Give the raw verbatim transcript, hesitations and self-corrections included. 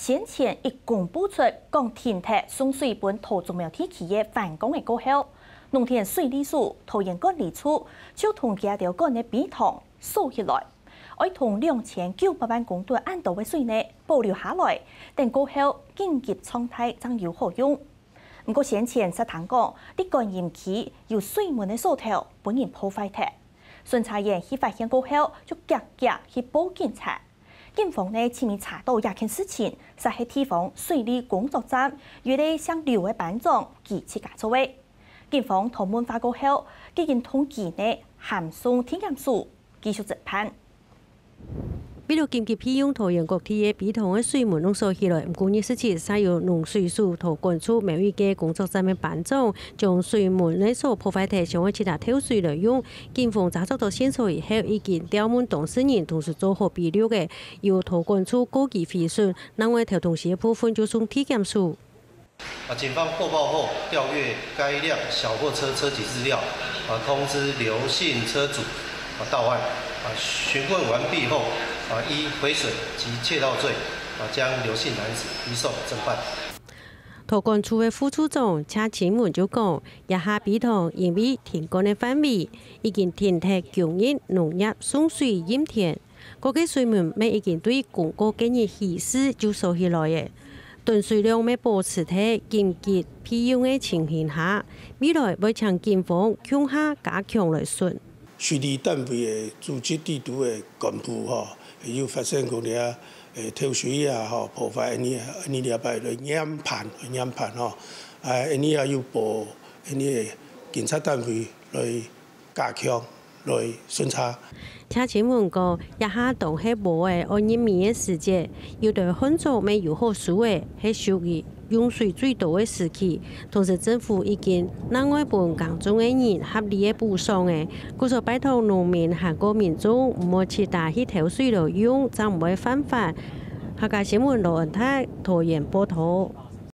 先前一公布出講停忒送水分桃竹苗地區个反光个過後，農田水利署、桃園管理處就同佢兜管个陂塘鎖起來，愛同兩千九百萬公噸恁多个水呢保留下來，等過後緊急狀態正有好用。毋過先前煞聽講，在觀音區有水門个鎖頭分人破壞忒，巡查員去發現過後，就遽遽去報警察。 警方呢，尋日查到這件事情，煞係地方水利工作站有一個姓劉个班長佢自家做个。警方同問話過後，已經同佢呢，函送地檢署繼續偵辦。為了緊急備用桃園各地个陂塘个水門攏鎖起來，毋過二十七日，煞有農水署桃管處某一個工作站个班長將水門个鎖破壞忈，想愛自家偷水來用。警方查捉到線索以後，已經調問當事人，同時做好筆錄个， 由桃管處告佢毀損，另外偷東西个部分就送地檢署。啊，警方獲報後調閱該輛小貨車車籍資料，啊，通知劉姓車主，啊，到案，啊，詢問完畢後，啊，依毀損及竊盜罪，啊，將劉姓男子移送偵辦。桃管處个副處長謝清文就講，這下陂塘因為停管个範圍，已經停忒九日農業送水蔭田， 該个水門乜已經對公告該日起勢就鎖起來了。等水量乜保持在緊急備用个情形下，未來會請警方共下加強來巡。水利單位个組織制度个幹部吼，有發生過這，誒，偷水啊，吼，破壞恁呢，恁呢這擺來嚴辦，嚴辦吼，啊，恁呢啊有報，恁呢警察單位來 加強來巡查。謝清文講，這下當係禾仔愛入稟个時節，有兜旱作乜有好收了，係屬於用水最多个時期。同時，政府已經另外分耕種个人合理个補償了，故所拜託農民還過民眾毋好自家去偷水來用，正毋會犯法。客家新聞羅恩泰，桃園報導。